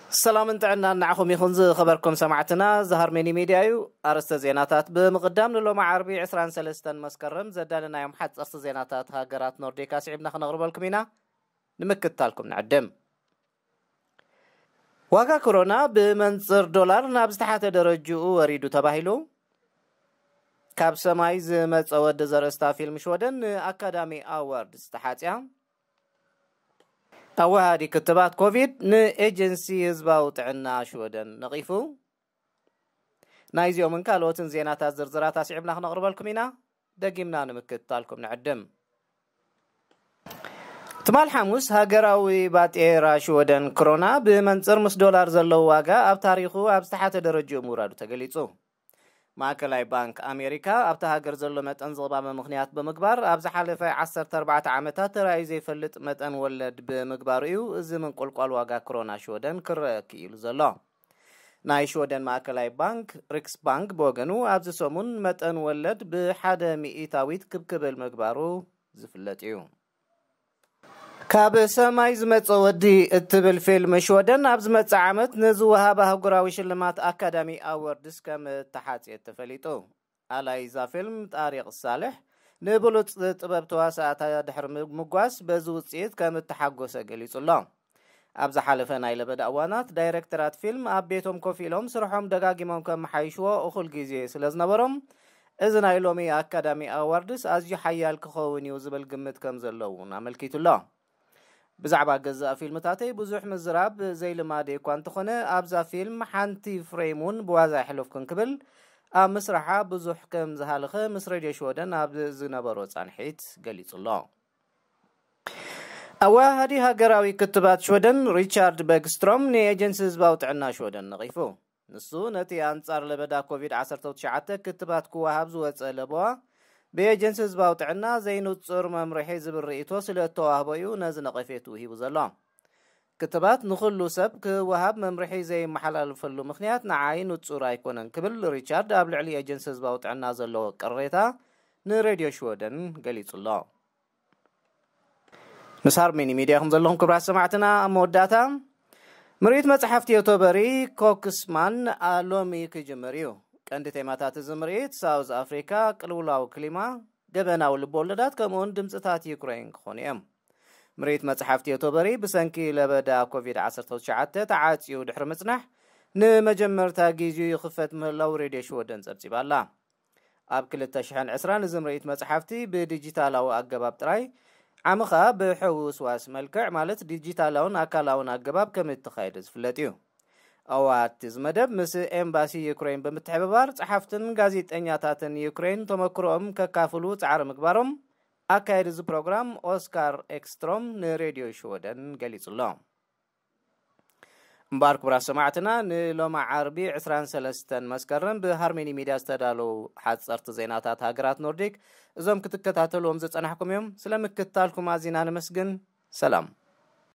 ሰላምን ጥዕናን ንዓኹም ይኹን ዝኸበርኩም ሰማዕትና። እዚ ሃርሜኒ ሚድያ እዩ። ኣርእስተ ዜናታት ብምቕዳም፣ ንሎሚ ዓርቢ ዕስራን ሰለስተን መስከረም ዘዳለናዮም ሓፀርቲ ዜናታት ሃገራት ኖርዲክ ኣስዒብና ክነቕርበልኩም ኢና። ንምክትታልኩም ንዕድም። ዋጋ ኮሮና ብመንፅር ዶላር ናብ ዝተሓተ ደረጅኡ ወሪዱ ተባሂሉ። ካብ ሰማይ ዝመፀ ወዲ ዘርእስታ ፊልም ሽወደን ንኣካዳሚ ኣዋርድ ዝተሓፅያ። ኣወሃዲ ክትባት ኮቪድ ንኤጀንሲ ህዝባዊ ጥዕና ሽወደን ነቒፉ። ናይዚኦምን ካልኦትን ዜናታት ዝርዝራት ኣስዒብና ክነቕርበልኩም ኢና። ደጊምና ንምክትታልኩም ንዕድም። ትማል ሓሙስ ሃገራዊ ባጤራ ሽወደን ክሮና ብመንፅር ምስ ዶላር ዘለዎ ዋጋ ኣብ ታሪኹ ኣብ ዝተሓተ ደረጅኡ ምውራዱ ተገሊጹ። ማእከላይ ባንክ ኣሜሪካ ኣብታ ሃገር ዘሎ መጠን ዝቕባበ ምኽንያት ብምግባር፣ ኣብ ዝሓለፈ ዓሰርተ ኣርባዕተ ዓመታት ተራእዩ ዘይፈልጥ መጠን ወለድ ብምግባሩ እዩ እዚ ምንቁልቋል ዋጋ ክሮና ሽወደን ክረአ ክኢሉ ዘሎ። ናይ ሽወደን ማእከላይ ባንክ ሪክስ ባንክ ብወገኑ ኣብዚ ሰሙን መጠን ወለድ ብሓደ ሚእታዊት ክብ ክብል ምግባሩ ዝፍለጥ እዩ። ካብ ሰማይ ዝመጸ ወዲ እትብል ፊልም ሽወደን ኣብ ዝመጽእ ዓመት ንዝወሃብ ኣህጉራዊ ሽልማት ኣካዳሚ ኣወርድስ ከም እተሓጽየት ተፈሊጡ። ኣላይዛ ፊልም ጣሪቕ ሳልሕ ንብሉጽ ጥበብ ተዋሳእታ ድሕሪ ምጓስ በዚ ውጽኢት ከም እተሓጎሰ ገሊጹ ኣሎ። ኣብ ዝሓለፈ ናይ ለበዳ እዋናት ዳይሬክተራት ፊልም ኣብ ቤቶም ኮፍ ኢሎም ስርሖም ደጋጊሞም ከመሓይሽዎ እኹል ግዜ ስለ ዝነበሮም፣ እዚ ናይ ሎሚ ኣካዳሚ ኣዋርድስ ኣዝዩ ሓያል ክኸውን እዩ ዝብል ግምት ከም ዘሎ እውን ኣመልኪቱ ኣሎ። ብዛዕባ ገዛእ ፊልምታተይ ብዙሕ ምዝራብ ዘይልማደይ እኳ እንተኾነ፣ ኣብዛ ፊልም ሓንቲ ፍሬም እውን ብዋዛ ኣይሕለፍኩን ክብል ኣብ ምስራሓ ብዙሕ ከም ዝሃለኸ ምስ ሬድዮ ሽወደን ኣብ ዝነበሮ ጻንሒት ገሊጹ ኣሎ። ኣወሃሃዲ ሃገራዊ ክትባት ሽወደን ሪቻርድ በግስትሮም ንኤጀንሲ ህዝባዊ ጥዕና ሽወደን ነቒፉ። ንሱ ነቲ ኣንጻር ለበዳ ኮቪድ ዓሰርተ ትሽዓተ ክትባት ክወሃብ ዝወጸ ለበዋ ብኤጀንሲ ህዝባዊ ጥዕና ዘይንጹር መምርሒ ዝብል ርእይቶ ስለ እተዋህቦ እዩ ነዚ ነቐፌቱ ሂቡ ዘሎ። ክትባት ንኹሉ ሰብ ክወሃብ መምርሒ ዘይመሓላለፈሉ ምኽንያት ንዓይ ንጹር ኣይኮነን ክብል ሪቻርድ ኣብ ልዕሊ ኤጀንሲ ህዝባዊ ጥዕና ዘለዎ ቅሬታ ንሬድዮ ሽወደን ገሊጹ ኣሎ። ምስ ሃርሜኒ ሚድያ ኢኹም ዘለኹም ክቡራት ሰማዕትና። ኣብ መወዳእታ ምርኢት መጽሓፍቲ ዮቶበሪ ኮክስማን ሎሚ ክጅምር እዩ። ቀንዲ ቴማታት እዚ ምርኢት ሳውዝ ኣፍሪካ፣ ቅልውላው ክሊማ፣ ገበናዊ ልቦወለዳት ከምኡውን ድምፅታት ዩክሬን ክኾኑ እዮም። ምርኢት መጽሓፍቲ ዮቶበሪ ብሰንኪ ለበዳ ኮቪድ ዓሰርተ ትሽዓተ ተዓፅዩ ድሕሪ ምጽናሕ ንመጀመርታ ግዜኡ ይኽፈት ምህላው ሬድዮ ሽወደን ጸብጺባ ኣላ። ኣብ ክልተ ሽሕን ዕስራን እዚ ምርኢት መጽሓፍቲ ብዲጂታላዊ ኣገባብ ጥራይ ዓምኻ ብሕውስዋስ መልክዕ ማለት ዲጂታላውን ኣካላውን ኣገባብ ከም እተኻየደ ዝፍለጥ እዩ። ኣዋሃድቲ እዚ መደብ ምስ ኤምባሲ ዩክሬን ብምትሕብባር ጸሓፍትን ጋዜጠኛታትን ዩክሬን ተመክሮኦም ከካፍሉ ጻዕሪ ምግባሮም ኣካየዲ እዚ ፕሮግራም ኦስካር ኤክስትሮም ንሬድዮ ሽወደን ገሊጹ ኣሎ። እምበኣር ክቡራት ሰማዕትና ንሎማ ዓርቢ ዕስራን ሰለስተን መስከረም ብሃርሜኒ ሚድያ ዝተዳለዉ ሓጸርቲ ዜናታት ሃገራት ኖርዲክ እዞም ክትከታተልዎም ዝጸናሕኩም እዮም። ስለ ምክትታልኩም ኣዚና ነመስግን። ሰላም።